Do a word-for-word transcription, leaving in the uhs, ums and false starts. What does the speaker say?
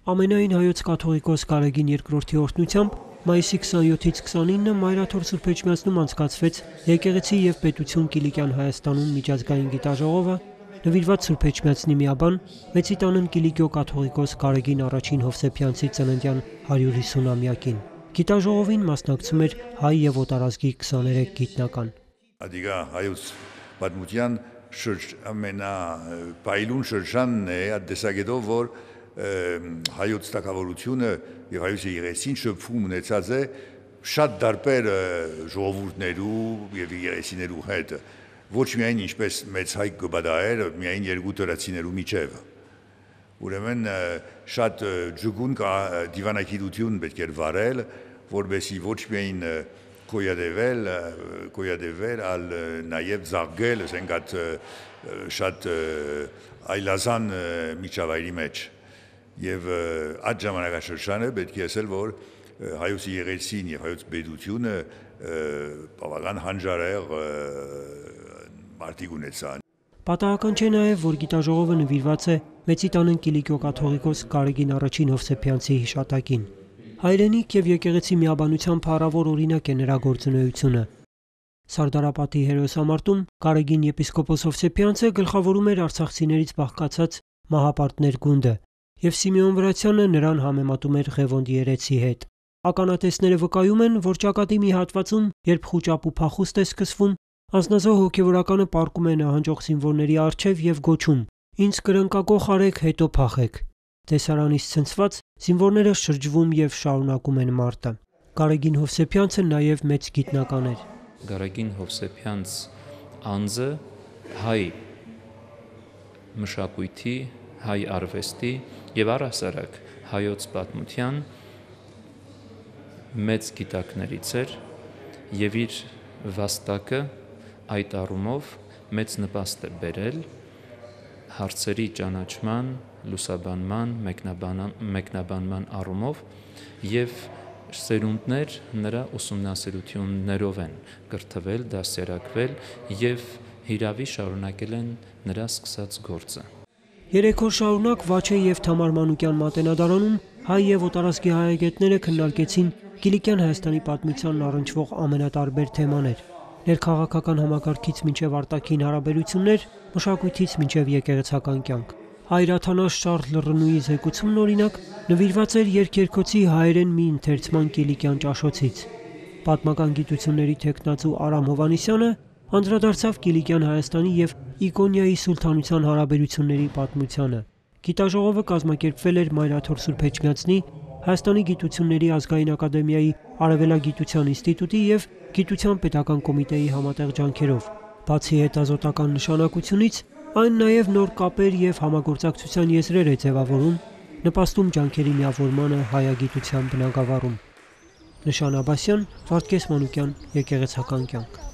Ամենայն հայոց կաթողիկոս Գարեգին երկրորդի օրհնությամբ մայիսի քսաներկուից քսանինը Մայրաթոր Սուրբ Էջմիածնում անցկացվեց Եկեղեցի և պետություն Կիլիկյան Հայաստանում միջազգային գիտաժողովը, նվիրված Սուրբ Էջմիածնի միաբան Մեծիտանն Կիլիկիո կաթողիկոս Գարեգին առաջին Հովսեփյանցի ծննդյան հարյուր հիսունամյակին։ Գիտաժողովին մասնակցում էր հայ և օտարազգի քսաներեք գիտնական։ Ադիգա հայոց պատմության ամենապայլուն շրջանն է այդ տեսակետով, որ հայոց թագավորությունը եւ հայոց եկեղեցին շփում ունեցած է շատ դարբեր ժողովուրդներու եւ եկեղեցիներու հետ, ոչ միայն ինչպես մեծ հայ գբադայեր, միայն երկու դրացիներու միջև։ Ուրեմն շատ ջուգուն դիվանագիտություն պետք է վարել, որովհետեւ ոչ միայն կոյադեվել, կոյադեվել, ալ նաեւ զարգել, ասենք այդ շատ այլազան միջավայրի մեջ։ Եվ այդ ժամանակաշրջանը պետք է ասել, որ հայոց եկեղեցին եւ հայոց պետությունը բավական հանճարեղ մարդիկ ունեցան։ Պատահական չէ նաեւ, որ գիտաժողովը նվիրված է Մեծիտանն Կիլիկիո կաթողիկոս Գարեգին առաջին Հովսեփյանցի հիշատակին։ Հայրենիք եւ եկեղեցի միաբանության փառավոր օրինակ է նրա գործունեությունը։ Սարդարապատի հերոսամարտում Գարեգին եպիսկոպոս Հովսեփյանցը գլխավորում էր արցախցիներից բաղկացած մահապարտներ գունդը, եւ Սիմեոն Վրացյանը նրան համեմատում էր Ղևոնդի երեցի հետ։ Ականատեսները վկայում են, որ ճակատի մի հատվածում, երբ խուճապ ու փախուստ է սկսվում, անձնազոհ հոգևորականը պառկում է նահանջող զինվորների առջև եւ գոչում. «Ինձ կրնկակոխ արեք, հետո փախեք»։ Տեսարանից ցնցված զինվորները շրջվում եւ շարունակում են մարտը։ Գարեգին Հովսեփյանցը նաեւ մեծ գիտնական էր։ Գարեգին Հովսեփյանց անձը հայ մշակույթի, հայ արվեստի եւ առհասարակ հայոց պատմության մեծ գիտակներից էր եւ իր վաստակը այդ առումով մեծ նպաստ է բերել հարցերի ճանաչման, լուսաբանման, մեկնաբանման առումով եւ սերունդներ նրա ուսումնասիրություններով են կրթվել, դասերակվել եւ հիրավի շարունակել են նրա սկսած գործը։ Երեք օր շարունակ Վաչե եւ Թամար Մանուկյան մատենադարանում հայ եւ օտարազգի հայագետները քննարկեցին Կիլիկյան Հայաստանի պատմությանն առնչվող ամենատարբեր թեմաներ՝ ներքաղաքական համակարգից մինչև արտաքին հարաբերություններ, մշակույթից մինչև եկեղեցական կյանք։ Հայրաթանաշ Շառլ Լռնուի զեկուցումն օրինակ նվիրված էր երկերկոցի հայերեն մի ընթերցման Կիլիկյան ճաշոցից։ Պատմական գիտությունների թեկնածու Արամ Հովհաննիսյանը անդրադարձավ Կիլիկյան Հայաստանի եւ Իկոնիայի սուլթանության հարաբերությունների պատմությանը։ Գիտաժողովը կազմակերպվել էր Մայրաթոր Սուրբ Էջմիածնի, Հայաստանի գիտությունների ազգային ակադեմիայի Արևելագիտության ինստիտուտի եւ Գիտության պետական կոմիտեի համատեղ ջանքերով։ Բացի հետազոտական նշանակությունից, այն նաեւ նոր կապեր եւ համագործակցության եզրեր է ձևավորում, նպաստում ջանքերի միավորմանը հայագիտության բնագավառում։ Նշան Աբասյան, Վարդգես Մանուկյան, Եկեղեցական կյանք։